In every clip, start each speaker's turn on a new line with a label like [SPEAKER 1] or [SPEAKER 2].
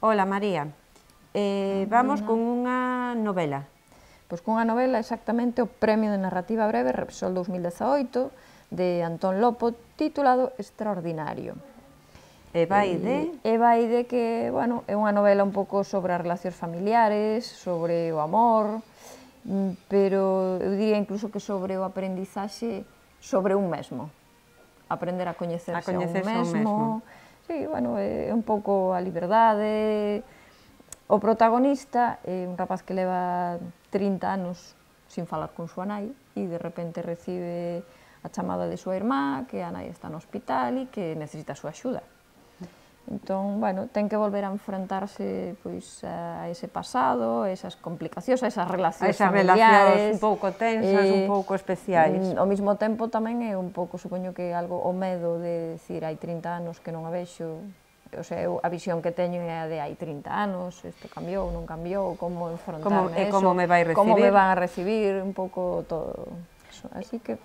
[SPEAKER 1] Hola, María. Vamos con unha novela.
[SPEAKER 2] Pois cunha novela exactamente o Premio de Narrativa Breve Repsol 2018 de Antón Lopo, titulado Extraordinario.
[SPEAKER 1] E vai de
[SPEAKER 2] que, bueno, é unha novela un pouco sobre as relacións familiares, sobre o amor, pero eu diría incluso que sobre o aprendizaxe sobre un mesmo. Aprender a coñecerse a un mesmo. Sí, bueno, é un pouco a liberdade. O protagonista é un rapaz que leva 30 anos sin falar con súa nai e de repente recibe a chamada de súa irmá, que a nai está no hospital e que necesita a súa axuda. Entón, bueno, ten que volver a enfrentarse pois a ese pasado, a esas complicacións, a esas relacións familiares.
[SPEAKER 1] Un pouco tensas, un pouco especiais.
[SPEAKER 2] Ao mesmo tempo tamén é un pouco, supoño que algo, o medo de decir hai 30 anos que non a vexo, o sea, a visión que teño é a de hai 30 anos, isto cambiou, non cambiou, como enfrontarme a eso,
[SPEAKER 1] como me vai recibir,
[SPEAKER 2] como me van a recibir, un pouco todo eso. Así que,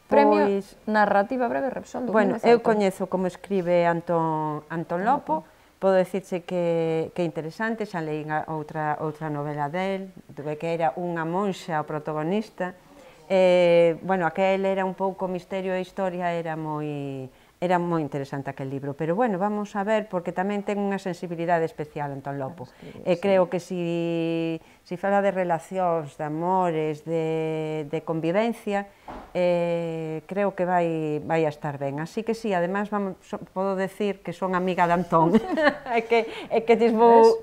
[SPEAKER 2] Premio Narrativa Breve Repsol 2018.
[SPEAKER 1] Bueno, eu coñezo como escribe Antón Lopo, podo dicirche que é interesante, xa leín outra novela del, que era unha monxa o protagonista. Bueno, aquel era un pouco misterio e historia, era moi interesante aquel libro, pero bueno, vamos a ver, porque tamén ten unha sensibilidade especial Antón Lopo, e creo que si fala de relacións, de amores, de convivencia, creo que vai a estar ben, así que si, además podo decir que son amiga de Antón, que disbo,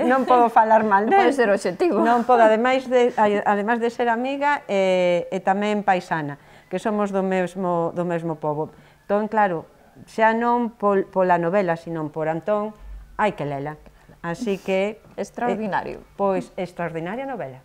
[SPEAKER 1] non podo falar mal del,
[SPEAKER 2] pode ser obxectivo,
[SPEAKER 1] non podo, ademais de ser amiga, e tamén paisana, que somos do mesmo pobo. Entón, claro, xa non pola novela, sino por Antón, hai que lela. Así que...
[SPEAKER 2] Extraordinario.
[SPEAKER 1] Pois, extraordinaria novela.